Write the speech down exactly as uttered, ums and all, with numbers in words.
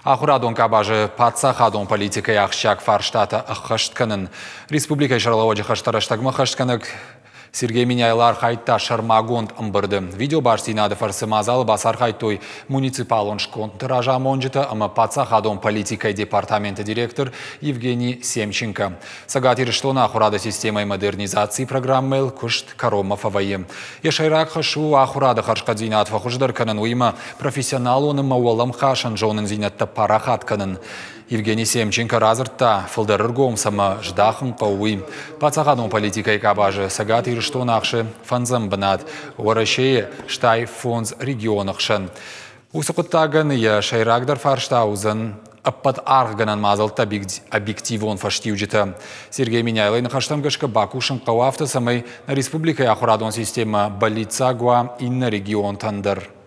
Ахуырадон къабазы паддзахадон политикӕйы ахсджиаг фарстатӕ ӕххӕст кӕнын. Республикӕйы сӕргълӕууӕджы хӕстӕ рӕстӕгмӕ ӕххӕстгӕнӕг Сергей Меняйло архайдта сӕрмагонд ӕмбырды. Видеобастдзинады фӕрцы мадзалы бацархайдтой муниципалон скондты разамонджытӕ ӕмӕ паддзахадон политикӕйы департаменты директор Евгений Семченко. Цӕгат Ирыстоны ахуырады системӕйы модернизацийы программӕйыл куыст кӕронмӕ фӕвӕййы. Йӕ сӕйраг хӕс у ахуырады хӕрзхъӕддзинад фӕхуыздӕр кӕнын, уыимӕ профессионалон ӕмӕ уӕлӕмхасӕн зонындзинӕдтӕ парахат кӕнын. Евгений Семченко радзырдта, фылдӕр ӕргом цӕмӕ здахын хъӕуы, уый. Паддзахадон политикӕйы къабазы Цӕгат Ирыстон ахсы фӕндзӕм бынат Уӕрӕсейы стай фондз регионы хсӕн. Уыцы хъуыддагӕн йӕ сӕйрагдӕр фарста уыдзӕн ӕппӕт аргъгӕнӕн мадзӕлтты объективон фӕстиуджытӕ. Сергей Меняйлойы ныхӕстӕм гӕсгӕ бакусын хъӕуы афтӕ, цӕмӕй нӕ республикӕйы ахуырадон системӕ бӕллиццаг уа иннӕ регионтӕн дӕр.